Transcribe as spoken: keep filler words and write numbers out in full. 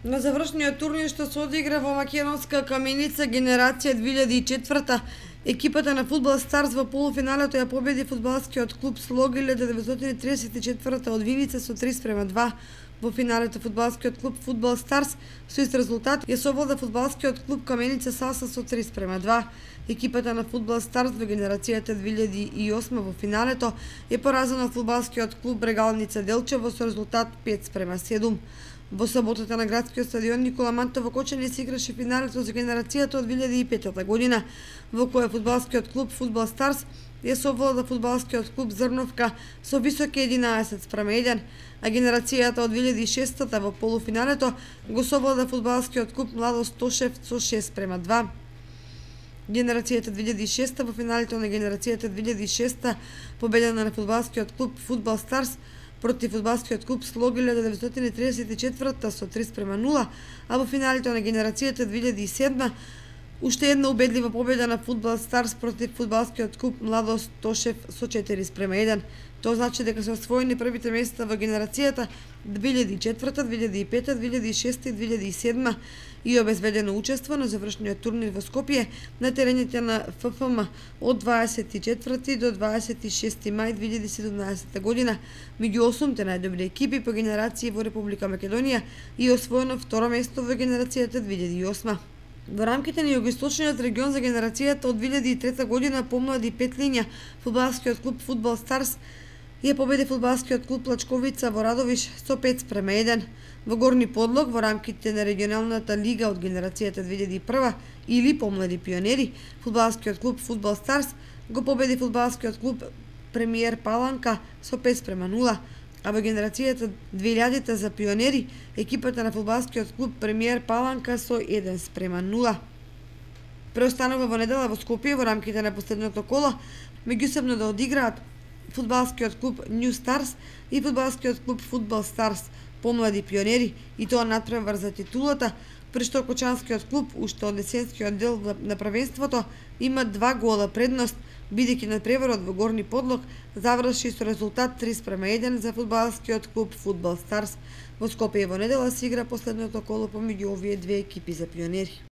На завршниот турнир што се одигра во македонска Каменица генерација две илјади и четврта, екипата на Фудбал Старс во полуфиналето ја победи фудбалскиот клуб Слог илјада деветстотини триесет и четврта од Виница со три спрема два. Во финалето фудбалскиот клуб Фудбал Старс со ист резултат ја совлада фудбалскиот клуб Каменица Саса со три спрема два. Екипата на Фудбал Старс во генерацијата две илјади и осма во финалето е поразена од фудбалскиот клуб Брегалница Делчево со резултат пет спрема седум. Во саботата на градскиот стадион Никола Манта во Кочани се играше финалето за генерацијата од две илјади и пета година, во која фудбалскиот клуб Фудбал Старс ја совлада фудбалскиот клуб Зрновка со високи единаесет спрема еден, а генерацијата од две илјади и шеста во полуфиналето го совлада фудбалскиот клуб Младост Тошев со шест спрема два. Генерацијата две илјади и шеста во финалето на генерацијата две илјади и шеста победена на фудбалскиот клуб Фудбал Старс против фудбалскиот клуб Слог илјада деветстотини триесет и четврта со три спрема нула, а во финалето на генерацијата две илјади и седма уште една убедлива победа на Фудбал Старс против фудбалскиот клуб Младост Тошев со четири спрема еден. Тоа значи дека се освоени првите места во генерацијата две илјади и четврта, две илјади и пета, две илјади и шеста и две илјади и седма и обезбедено учество на завршниот турнир во Скопје на терените на Ф Ф М од дваесет и четврти до дваесет и шести мај две илјади и седумнаесета година меѓу осумте најдобри екипи по генерации во Република Македонија и освоено второ место во генерацијата две илјади и осма. Во рамките на југоисточниот регион за генерацијата од две илјади и трета година помлади пет линија фудбалскиот клуб Фудбал Старс ја победи фудбалскиот клуб Лачковица во Радовиш со пет спрема еден. Во Горни Подлог во рамките на регионалната лига од генерацијата две илјади и прва или помлади пионери, фудбалскиот клуб Фудбал Старс го победи фудбалскиот клуб Премиер Паланка со пет спрема нула, а во генерацијата две илјадите за пионери, екипата на фудбалскиот клуб Премиер Паланка со еден спрема нула. Преостанува во недела во Скопје во рамките на последното коло меѓусебно да одиграат фудбалскиот клуб Нью Старс и фудбалскиот клуб Фудбал Старс, помлади пионери, и тоа надпревар за титулата, при што Кочанскиот клуб уште од есенскиот дел на првенството има два гола предност, бидејќи надпреварот во Горни Подлог заврши со резултат три спрема еден за фудбалскиот клуб Фудбал Старс. Во Скопје во недела се игра последното коло помеѓу овие две екипи за пионери.